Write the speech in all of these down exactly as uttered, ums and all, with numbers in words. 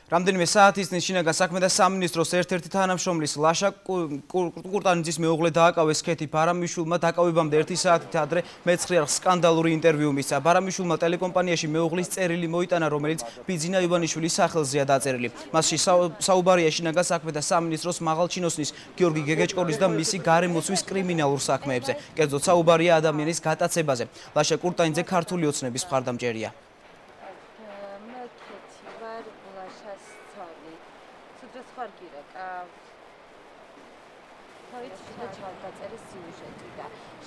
რამდენიმე საათის წინ შინაგან საქმეთა სამინისტროს ერთ-ერთი თანამშრომლის ლაშა კურტანიძის მეუღლე დააკავეს სქეთი ბარამიშვილმა დაკავებამდე ერთი საათით ადრე მეცხრე არხს სკანდალური ინტერვიუ მისცა. ბარამიშვილმა ტელეკომპანიაში მეუღლის წერილი მოიტანა, რომელიც ბიძინა ივანიშვილის სახელზეა დაწერილი. მასში საუბარია შინაგან საქმეთა სამინისტროს მაღალჩინოსნის გიორგი გეგეჭკორის და მისი გარემოცვის კრიმინალურ საქმეებზე. კერძოდ საუბარია ადამიანის გატაცებაზე. ლაშა კურტანიძე ქართული ოცნების მხარდამჭერია.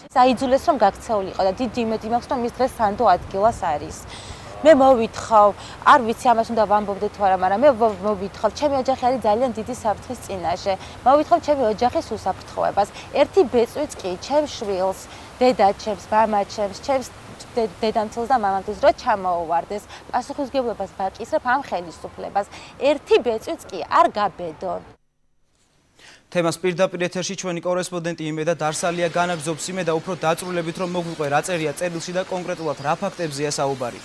საიძულეს რომ გაქცეულიყო და დიდი იმედი მაქვს რომ მის დღეს სანდო ადგილას არის. მე მოვითხოვ, არ ვიცი ამას უნდა ვამბობდე თუ არა, მაგრამ მე მოვითხოვ, ჩემი ოჯახი არის ძალიან დიდი საფრთხის წინაშე. მოვითხოვ ჩემი ოჯახის უსაფრთხოებას. ერთი ბეწვიც კი ჩემს შვილს, დედაჩემს, მამაჩემს, ჩემს დედამცილს და მამამცილს რო ჩამოუვარდეს, პასუხისმგებლობას ვაკისრებ ამ ხელისუფლებას. ერთი ბეწვიც კი არ გაბედონ. თემას პირდაპირ ეთერში ჩვენი კორესპონდენტი იმედა დარსალია განაგზობს იმედა უფრო დაწვრილებით რომ მოგვიყვე რა წერია წერილში და კონკრეტულად რა ფაქტებზეა საუბარი.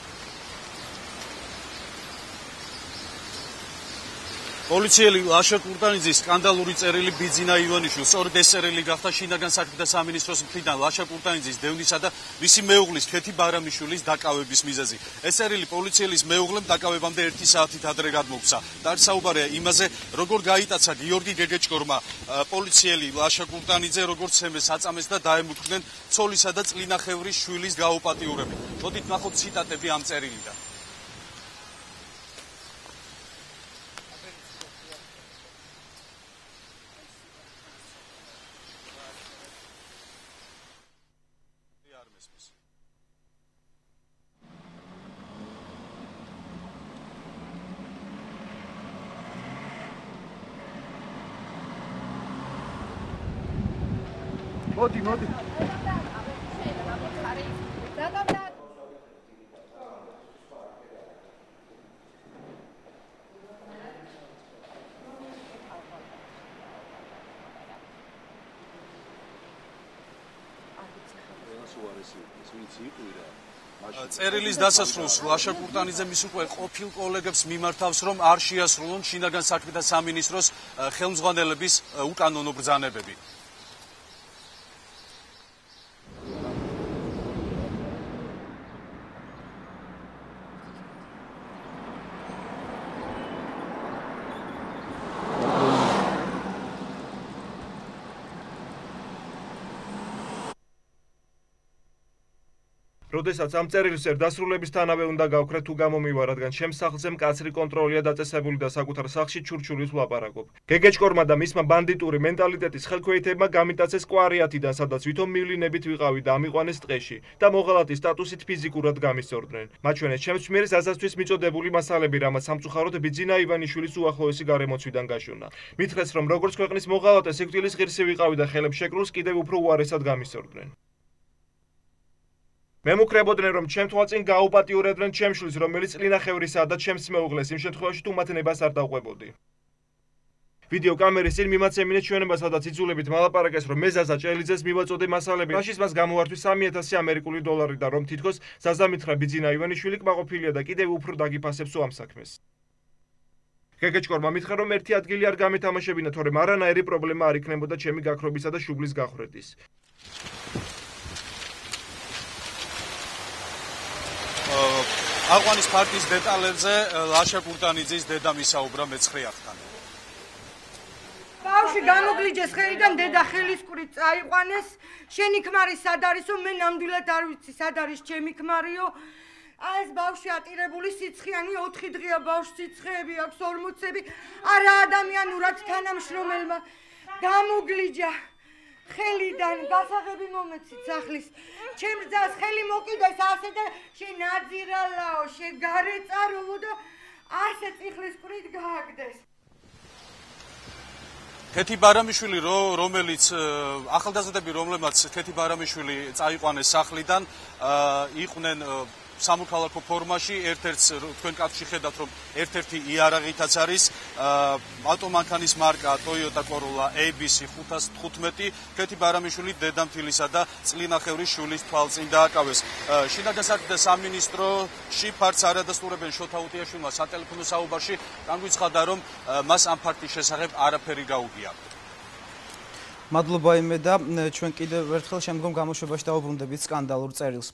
პოლიციელი ლაშა კურტანიძის სკანდალური წერილი ბიძინა ივანიშვილს სწორედ ეს წერილი გახდა შინაგან საქმეთა სამინისტროს მხრიდან ლაშა კურტანიძის დევნისა და მისი მეუღლის ქეთი ბარამიშვილის დაკავების მიზეზი. ეს წერილი პოლიციელის მეუღლემ დაკავებამდე ერთი საათით ადრე გადმოგვცა. და საუბარია იმაზე, როგორ გაიტაცა გიორგი გეგეჭკორმა პოლიციელი ლაშა კურტანიძე, როგორც ემეს აწამეს და დაემუქრნენ ცოლისა და წლინახევრის შვილის გაუპატიურებით. მოდით ნახოთ ციტატები ამ წერილიდან. მოდი, მოდი. წერილის დასასრულს ლაშა კურტანიძე მის უკვე ყოფილ კოლეგებს მიმართავს, რომ არ შეასრულონ შინაგან საქმეთა სამინისტროს ხელმძღვანელების უკანონო ბრძანებები. როდესაც ამ წერილს ერთ დასრულებისთანავე უნდა გავქრე თუ გამომივა, რადგან ჩემს სახლზე მკაცრი კონტროლია დაწესებული და საკუთარ სახლში ჩურჩულის ვლაპარაკობ. გეგეჭკორმა და მისმა ბანდიტური მენტალიტეტის ხელქვეითებმა გამიტაცეს კვარიათიდან, სადაც ვითომ მივლინებით ვიყავი და ამიყვანეს ტყეში და მოღალატის სტატუსით ფიზიკურად გამისწორდნენ. მაჩვენეს ჩემს მიერ საზასთვის მიწოდებული მასალები, რამაც სამწუხაროდ ბიძინა ივანიშვილის უახლოესი გარემოცვიდან გაშურნა. მითხრეს, რომ როგორც ქვეყნის მოღალატე სიკვდილის ღირსი ვიყავი და ხელებს შეკრულს კიდევ უფრო უარესად გამისწორდნენ. მე მოკრებოდნენ, რომ ჩემ თვალწინ გაუპატიურებდნენ ჩემს შვილს, რომელიც წლინახევრისაა და ჩემს მეუღლეს, იმ შემთხვევაში თუ მათ ნებას არ დავყვებოდი. ვიდეო კამერის წინ მიმაცემინეს ჩვენება, სადაც იძულებით მალაპარაკეს, რომ მე ზაზა ჭელიძეს მივაწოდე მასალები, რაშიც მას გამოვართვის სამი ათასი ამერიკული დოლარი და რომ თითქოს ზაზა მითხრა ბიძინა ივანიშვილი კმაყოფილია და კიდევ უფრო დაგიფასებსო ამ საქმეს. გეგეჭკორმა მითხრა, რომ ერთი ადგილი არ გამეთამაშებინა, თორემ არანაირი პრობლემა არ იქნებოდა ჩემი გაქრობისა და შუბლის გახრეთის. აყვანის ფაქტის დეტალებზე ლაშა კურტანიძის დედა მისაუბრა მეცხრე არხთან. ბავშვი გამოგლიჯეს ხელიდან, დედა ხელისკურით წაიყვანეს. შენი ქმარი სად არისო? მე ნამდვილად არ ვიცი სად არის ჩემი ქმარიო. აი ეს ბავშვი ატირებული სიცხიანი ოთხი დღეა, ბავშვს სიცხეები აქვს ორმოცები. არა ადამიანურად თანამშრომელმა გამოგლიჯა. ხელიდან გასაღები მომეცით სახლის. ჩემს ძას ხელი მოკიდეს ასე და შენაძირალაო, შეგარეწაროვო და ასე წიხლის კვირით გააგდეს. ქეთი ბარამიშვილი, რომელიც ახალგაზრდები, რომლებმაც ქეთი ბარამიშვილი წაიყვანეს სახლიდან, იყვნენ სამოქალაქო ფორმაში, ერთ-ერთს თქვენ კადრში ხედავთ, რომ ერთ-ერთი იარაღითაც არის ავტომანქანის მარკა Toyota Corolla A B C ხუთას თხუთმეტი, ქეთი ბარამიშვილი დედამთილისა და წლინახევრის შვილის თვალწინ დააკავეს. შინაგან საქმეთა სამინისტროში ფართს არ ადასტურებენ შოთა უტიაშვილმა სატელეფონო საუბარში, განგვიცხადა, რომ მას ამ ფაქტის შესახებ არაფერი გაუგია. მადლობა იმე და ჩვენ კიდევ ერთხელ შემდგომ გამოშვებაში დავუბრუნდებით სკანდალურ წერილს.